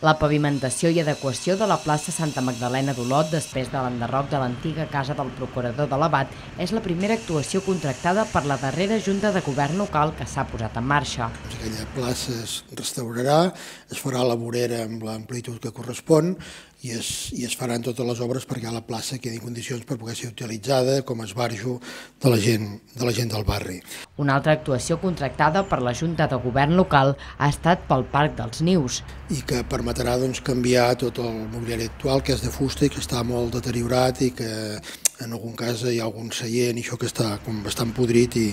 La pavimentació i adequació de la plaça Santa Magdalena d'Olot després de l'enderroc de l'antiga casa del procurador de l'Abat és la primera actuació contractada per la darrera Junta de Govern local que s'ha posat en marxa. Aquella plaça es restaurarà, es farà la vorera amb l'amplitud que correspon i es faran totes les obres perquè la plaça quedi en condicions per poder ser utilitzada com a esbarjo de la gent del barri. Una altra actuació contractada per la Junta de Govern local ha estat pel Parc dels Nius. I que permetrà canviar tot el mobiliari actual, que és de fusta i que està molt deteriorat i que en algun cas hi ha algun seient i això que està com bastant podrit i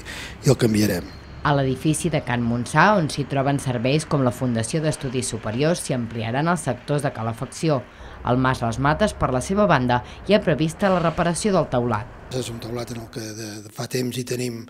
el canviarem. A l'edifici de Can Montsà, on s'hi troben serveis com la Fundació d'Estudis Superiors, s'hi ampliaran els sectors de calefacció. El Mas Les Mates, per la seva banda, hi ha prevista la reparació del teulat. És un teulat en el que fa temps hi tenim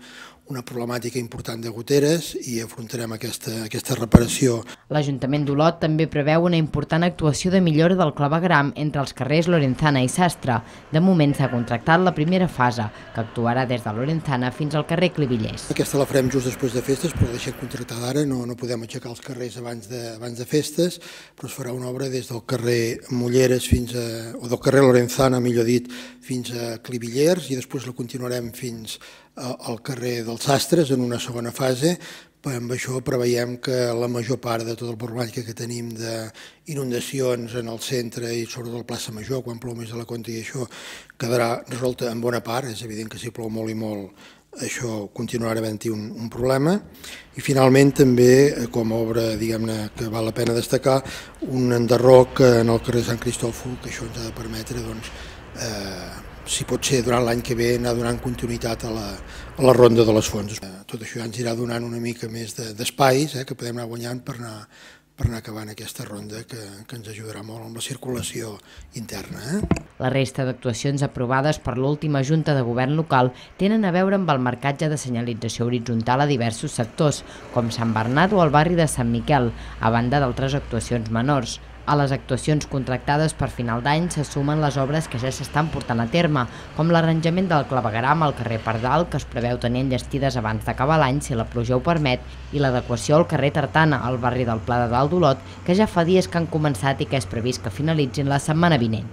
una problemàtica important de goteres i afrontarem aquesta reparació. L'Ajuntament d'Olot també preveu una important actuació de millora del clavegueram entre els carrers Lorenzana i Sastre. De moment s'ha contractat la primera fase, que actuarà des de Lorenzana fins al carrer Clivillers. Aquesta la farem just després de festes, però la deixem contractada ara, no podem aixecar els carrers abans de festes, però es farà una obra des del carrer Molleres o del carrer Lorenzana, millor dit, fins a Clivillers i després la continuarem fins al carrer dels Sastres en una segona fase. Amb això preveiem que la major part de tota la problemàtica que tenim d'inundacions en el centre i sobretot a la plaça Major, quan plou més de la compte, i això quedarà resolta en bona part. És evident que si plou molt i molt això continuarà havent-hi un problema. I finalment també, com a obra diguem-ne que val la pena destacar, un enderroc en el carrer Sant Cristòfol, que això ens ha de permetre, si pot ser durant l'any que ve, anar donant continuïtat a la ronda de les fonts. Tot això ja ens irà donant una mica més d'espais que podem anar guanyant per anar acabant aquesta ronda que ens ajudarà molt amb la circulació interna. La resta d'actuacions aprovades per l'última Junta de Govern local tenen a veure amb el marcatge de senyalització horitzontal a diversos sectors, com Sant Bernat o el barri de Sant Miquel, a banda d'altres actuacions menors. A les actuacions contractades per final d'any se sumen les obres que ja s'estan portant a terme, com l'arranjament del clavegueram al carrer Pardal, que es preveu tenir enllestides abans d'acabar l'any si la pluja ho permet, i l'adequació al carrer Tartana, al barri del Pla de Dalt d'Olot, que ja fa dies que han començat i que és previst que finalitzin la setmana vinent.